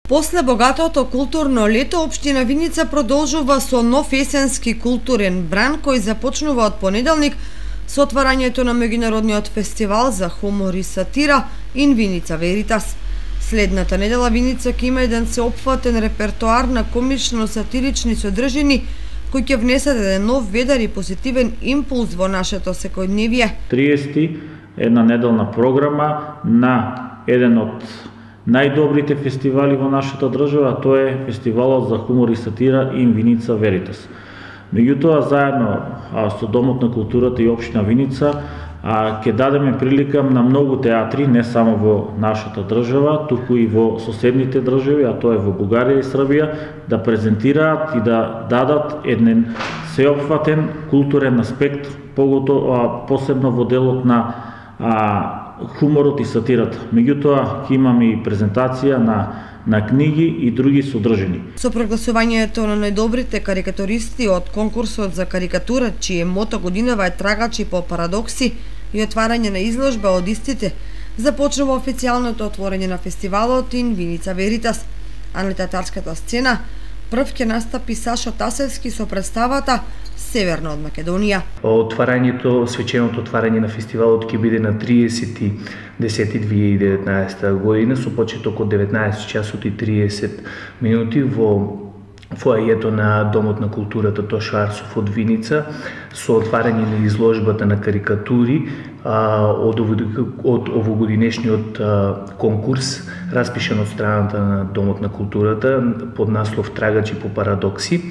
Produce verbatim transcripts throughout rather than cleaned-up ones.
После богатото културно лето, општина Виница продолжува со нов есенски културен бран кој започнува од понеделник со отварањето на меѓународниот фестивал за хумор и сатира In Vinica Veritas. Следната недела Виница ќе има еден сеопфатен репертоар на комично-сатирични содржини кои ќе внесат еден нов ведар и позитивен импулс во нашето секојдневие. триесети една неделна програма на еден од најдобрите фестивали во нашата држава, тоа е фестивалот за хумор и сатира In Vinica Veritas. Меѓутоа, заедно а, со Домот на културата и општина Виница, а, ќе дадеме прилика на многу театри, не само во нашата држава, туку и во соседните држави, а тоа е во Бугарија и Србија, да презентираат и да дадат еден сеопфатен културен аспект, поготово посебно во делот на а, хуморот и сатирата. Меѓутоа, ќе имаме и презентација на на книги и други содржини. Со прогласувањето на најдобрите карикатуристи од конкурсот за карикатура, чие мото годинава е трагачи по парадокси, и отварање на изложба од истите, започнува официјалното отворање на фестивалот In Vinica Veritas. А на театарската сцена прв ќе настапи Сашо Тасевски со представата Северно од Македонија. Отварањето, свеченото отварање на фестивалот ќе биде на триесети десети две илјади и деветнаесета година со почеток од деветнаесет часот и триесет минути во фоајето на Домот на културата Тоша Арсов од Виница со отварање на изложбата на карикатури а, од, од овогодинешниот а, конкурс распишан од страната на Домот на културата под наслов Трагачи по парадокси.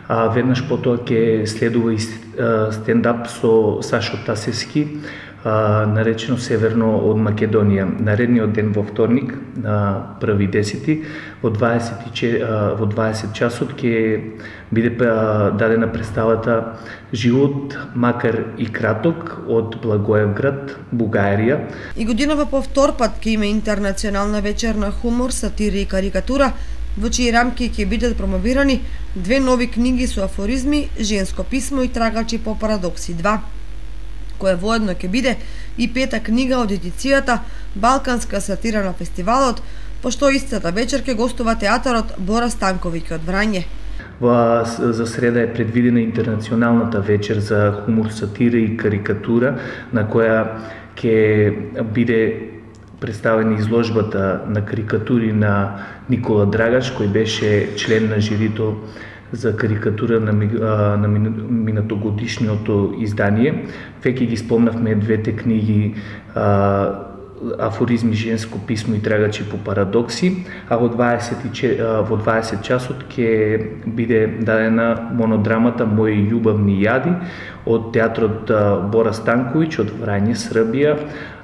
А веднаш потоа ќе следува и стендап со Сашо Тасевски, а, наречено Северно од Македонија. Наредниот ден во вторник, на први десети, во дваесет часот ќе биде дадена представата Живот, макар и краток, од Благоевград, Бугарија. И годинава по втор пат ќе има интернационална вечер на хумор, сатира и карикатура, во чии рамки ќе бидат промовирани две нови книги со афоризми, Женско писмо и Трагачи по парадокси два, која воедно ќе биде и пета книга од едицијата Балканска сатира на фестивалот, пошто истата вечер ќе гостува театарот Бора Станковиќ од Врање. Во, за среда е предвидена интернационалната вечер за хумор, сатира и карикатура, на која ќе биде представена изложбата на карикатури на Никола Драгаш, кој беше член на жирито за карикатура на, на минатогодишното издание. Веќе ги спомнавме двете книги а, Афоризми, Женско писмо и Трагачи по парадокси, а во дваесет часот ќе биде дадена монодрамата Мои љубавни јади од театрот Бора Станковиќ од Врање, Србија,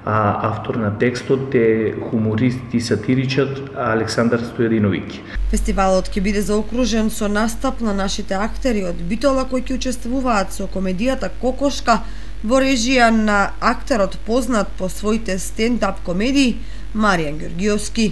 а автор на текстот е хуморист и сатиричар Александар Стојадиновиќ. Фестивалот ќе биде заокружен со настап на нашите актери од Битола кои ќе учествуваат со комедијата Кокошка во режија на актерот познат по своите стендап комедии Маријан Ѓоргиовски.